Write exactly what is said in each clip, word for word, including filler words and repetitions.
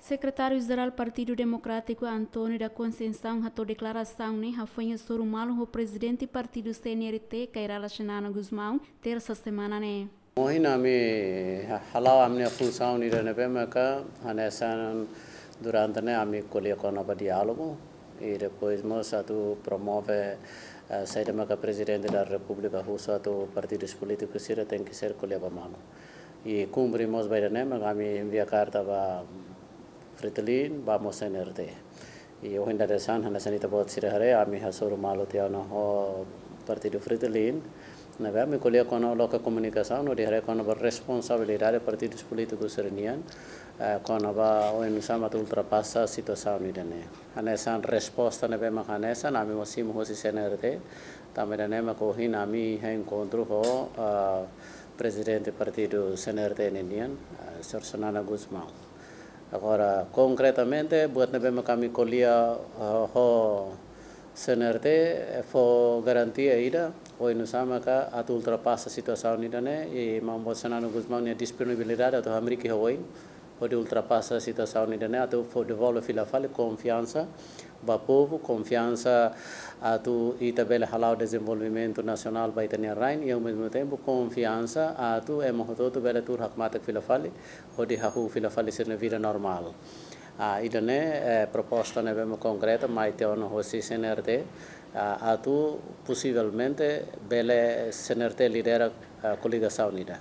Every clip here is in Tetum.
Sekretáriu Jerál Partidu Demokrátiku António da Conceição hato'o deklarasaun ne'e hafoin hasoru malu ho Prezidente Partidu C N R T, Kay Rala Xanana Gusmão, tersa semana ne'e. Ohin ami ha-, hala'o ami-nia funsaun ida ne'ebé maka hanesan durante ne'e ami ko'alia kona-ba diálogu, i depois mós atu promove, eh, saida maka Prezidente da Repúblika husu atu partidu polítiku sira tenke ser ko'alia ba malu. I kumpre mós ba ida ne'e maka ami envia karta ba Fretilin, ba mós C N R T. I ohin dadeer-saan hanesan ita-boot sira haree, ami hasoru malu tiha ona ho Partidu Fretilin. Ne'ebé ami ko'alia kona-ba loke komunikasaun hodi haree kona-ba responsabilidade partidu polítiku sira-nian, eh, kona-ba oinsá mak atu ultrapasa situasaun ida ne'e. Hanesan resposta ne'ebé maka hanesan, ami mós simu hosi C N R T, tanba ida ne'e maka ohin ami iha enkontru ho, ah, Prezidente Partidu C N R T ninian, ah, Señór Xanana Gusmão. Agora, konkretamente, buat ne'ebé maka ami ko'alia, ah, ho C N R T, eh, fó garantia ida, oinsá maka atu ultrapasa situasaun ida ne'e, i Maun Boot Xanana Gusmão nia disponibilidade atu hamriik iha oin, hodi ultrapasa situasaun ida ne'e, atu fó devolve fila fali konfiansa ba povu, konfiansa atu ita bele hala'o dezenvolvimentu nasionál ba ita-nia rain, i ao mesmo tempo konfiansa atu ema hotu-hotu bele tuur hakmatek fila fali, hodi hahú fila fali sira-nia vida normál. Ah, ida ne'e, eh, proposta ne'ebé mak konkreta mai tiha ona hosi C N R T, ah, atu posivelmente bele C N R T lidera, ah, koligasaun ida.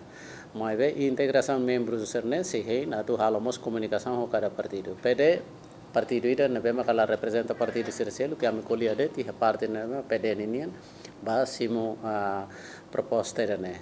Maibé integrasaun membru sira-ne'e sei hein atu halo mós komunikasaun ho kada partidu. P D, partidu ida ne'ebé maka la reprezenta partidu sira seluk, ke ami ko'alia de'it iha parte ne'ebé P D ninian, ba simu, ah, proposta ida ne'e.